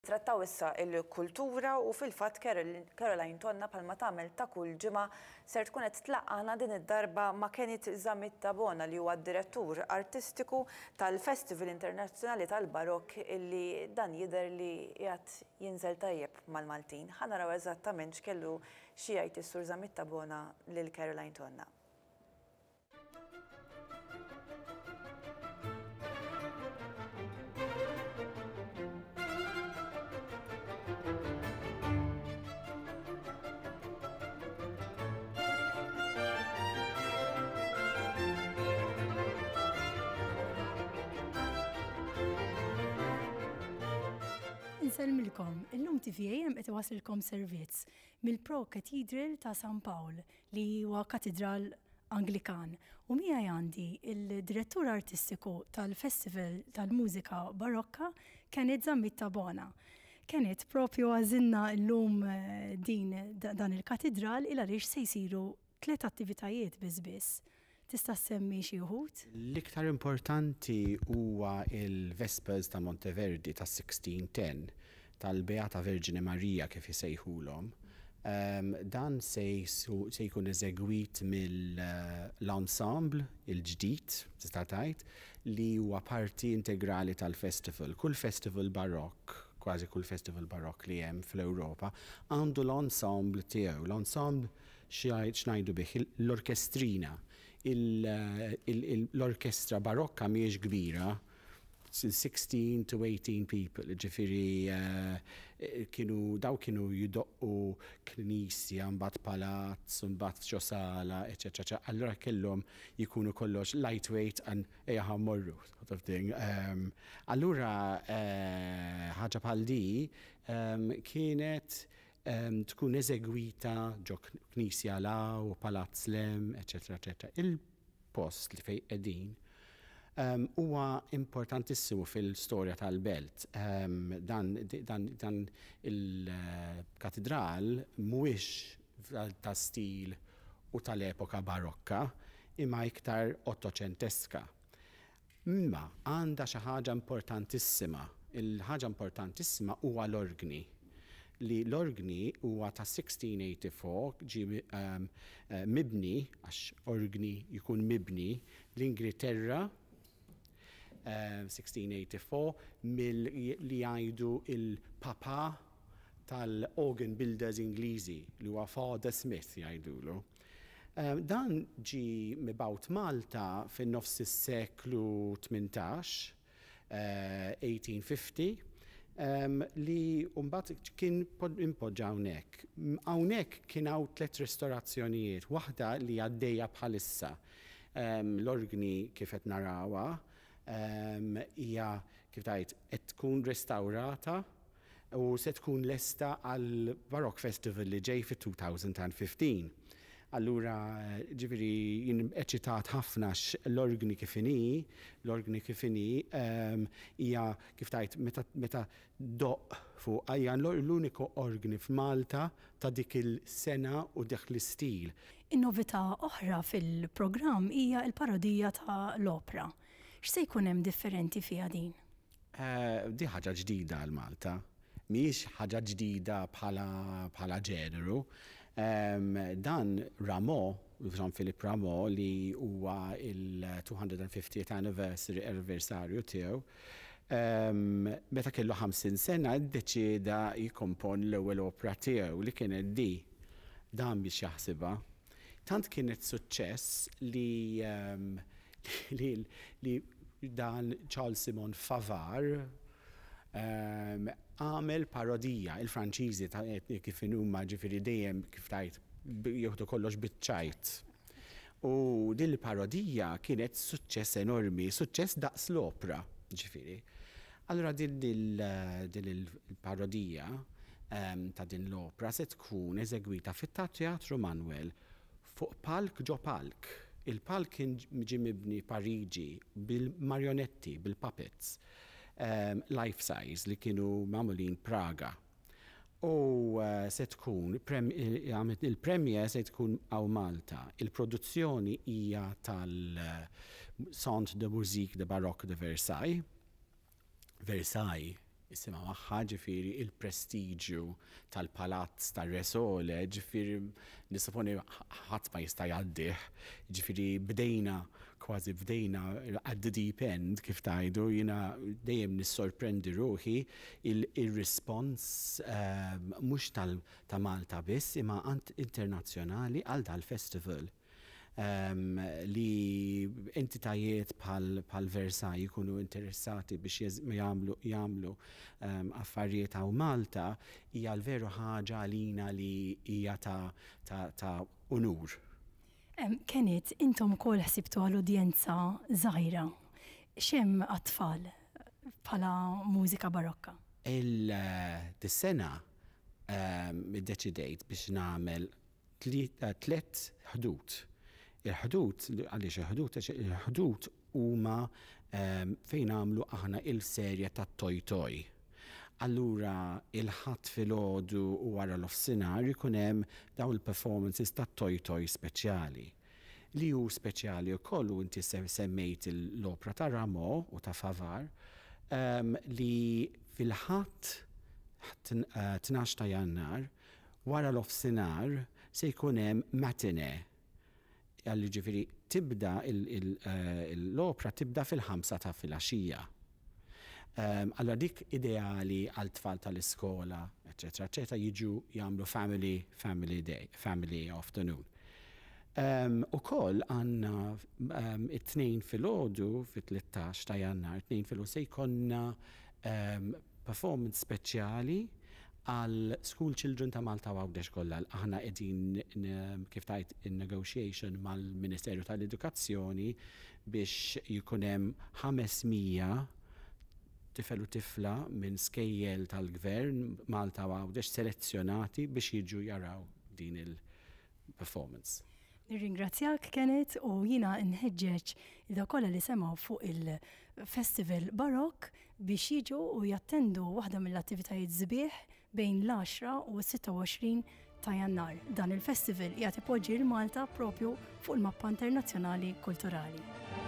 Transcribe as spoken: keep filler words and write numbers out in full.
Nittrattaw issa il-kultura u fil-fatt Caroline Tonna, bħalma tagħmel ta' kull ġimgħa, ser tkun qed tlaqqagħna din id-darba ma' Kenneth Zammit Tabona, li huwa d-direttur artistiku tal-Festival Internazzjonali tal-Barokk, illi dan jidher li qiegħed jinżel tajjeb mal-Maltin. Ħa naraw eżattament x'kellu xi jgħid is-Sur Zammit Tabona lil Caroline Tonna. Insellmilkom, illum T V A M qed iwassilkom servizz mill-Pro Cathedral ta' San Pawl, li huwa katedral Anglikan. U miegħi għandi il-direttur artistiku tal-Festival tal-Mużika Barokka, Kenneth Zammit Tabona. Kenneth, propju għażilna llum eh, din dan il-katedral il għaliex se jsiru tliet attivitajiet biss biss. Tista' semmi xi wħud? L-iktar importanti huwa il-Vespers ta' Monteverdi ta' sixteen ten, tal-Beata Vergine Maria kif jisejħulhom. Um, dan se, se jkun eżegwit mill-ensemble il-ġdid, tista' tgħid, li huwa parti integrali tal-festival. Kull festival barokk, kważi kull festival barokk li hemm fl-Ewropa, għandu l-ensemble tiegħu. L-ensemble x'ngħidu bih? L-orkestrina. L-orkestra barokka mhijiex kbira, sixteen to eighteen people, ġifieri eh, kienu, daw kienu jidoqqu knisja, mbagħad palazz, mbagħad ġo sala, eċetera. Allura kellhom jikunu kollox lightweight and ejja ħa mmorru, sort of thing. Um, allura eh, ħaġa bħal di um, kienet um, tkun eżegwita ġo knisja la u palazz lem, eċetera, eċetera. Il-post li fej qegħdin um, huwa importantissimu fil-storja tal-belt. Um, dan, dan, dan il-katedral mhuwiex ta' stil u tal-epoka barokka, imma iktar ottoċenteska. Imma għandha xi ħaġa importantissima. Il-ħaġa importantissima huwa l-orgni, li l-orgni huwa ta' sixteen eighty-four, ġi um, uh, mibni, għax orgni jkun mibni, l-Ingilterra um, sixteen eighty-four mill li jgħidu il-papa tal-organ builders Ingliżi, li huwa Father Smith jgħidulu. Um, dan ġi mibgħut Malta fin-nofs is-seklu tmintax, uh, eighteen fifty, um, li mbagħad kien impoġġa hawnhekk. Hawnhekk kien hawn tliet restaurazzjonijiet, waħda li għaddejja bħalissa. Um, l-orgni kif qed narawha um, hija, kif tgħid, qed tkun restaurata u se tkun lesta għal Baroque Festival li ġej fit-elfejn u ħmistax. Allura, ġifieri, jien eċitat ħafna l-orgni kif inhi, l-orgni kif inhi, hija, kif tgħid, meta, meta ddoqq fuq, hija l-uniku orgni f'Malta ta' dik il-sena u dik l-istil. In-novità oħra fil-programm hija l-parodija ta' l-opra. X'se jkun hemm differenti fiha din? Uh, di ħaġa ġdida għal Malta, mhijiex ħaġa ġdida bħala, bħala ġeneru. Um, dan Rameau, Jean-Philippe Rameau, li huwa il-two hundred fiftieth anniversary anniversarju tiegħu, um, meta kellu ħamsin sena ddeċieda jikkomponi l-ewwel opera tiegħu, li kienet di. Dan biex jaħsibha. Tant kienet suċċess li, um, li, li dan Charles Simon Favart um, għamel parodija. Il-Franċiżi ta' kif huma, ġifieri dejjem, kif tgħid, jieħdu kollox biċ-ċajt. U din il-parodija kienet suċċess enormi, suċċess daqs l-opra, ġifieri. Allora din il-parodija um, ta' din l-opra se tkun eżegwita fit-Teatru Manuel fuq palk ġo palk. Il-palk kien ġi mibni Pariġi bil-marionetti, bil-puppets, um, life size, li kienu magħmulin Praga. U uh, se tkun, il-premiere se tkun hawn Malta. Il-produzzjoni hija tal-Centre de Musique de Baroque de Versailles. Versailles. Isimha magħha, ġifieri il-prestiġju tal-palazz tar-Re Sole, ġifieri nissuponi ħadd ma jista' jgħaddih. Ġifieri bdejna kważi bdejna at the deep end, kif tgħidu. Jiena dejjem nissorprendi ruħi il-respons ehm, mhux ta' Malta biss imma internazzjonali għal dal-festival um, li entitajiet bħal Versailles jkunu interessati biex jagħmlu jagħmlu um, affarijiet hawn Malta hija l-veru ħaġa għalina li hija ta', ta, ta unur. Kenneth, intom ukoll ħsibtu għal-udjenza żgħira. X'hemm għat-tfal bħala mużika barokka? Il-sena um, iddeċidejt biex nagħmel tliet Ħdud. Il-Ħdud, għaliex il-Ħdud? Il-Ħdud huma ehm, fejn għamlu aħna il-serja ta' Toy Toy. Allura il-Ħadd filgħodu u wara nofsinhar ikun hemm daw il-performances ta' Toy Toy speċjali. Li hu speċjali wkoll, u inti semmejt l-opra ta' Rameau u ta' Favart, um, li fil-Ħadd tnax ta' Jannar wara nofsinhar se jkun hemm matinee għalli, ġifieri tibda eh, l-opra tibda fil-ħamsa ta' filgħaxija. Um, allora dik ideali għal tfal tal-iskola, eccetera, eccetera, jiġu jagħmlu family, family day, family afternoon. Um, Ukoll għandna um, it-Tnejn filgħodu, fit-tlettax ta' Jannar, it-Tnejn filgħodu se jkollna um, performance speċjali għal school children ta' Malta u Għawdex kollha. Aħna qegħdin, kif tajt, in negotiation mal-Ministeru tal-Edukazzjoni biex jkun hemm ħames mija tifel u tifla minn skejjel tal-gvern Malta u Għawdex selezzjonati biex jiġu jaraw din il-performance. Nirringrazzjak, Kenneth, u jiena nħeġġeġ il kollha li semgħu fuq il-Festival Barok biex jiġu u jattendu waħda mill-attivitajiet sbieħ bejn l-għaxra u s-sitta u għoxrin ta' Jannar. Dan il-festival qiegħed ipoġġi l-Malta propju fuq il-mappa internazzjonali kulturali.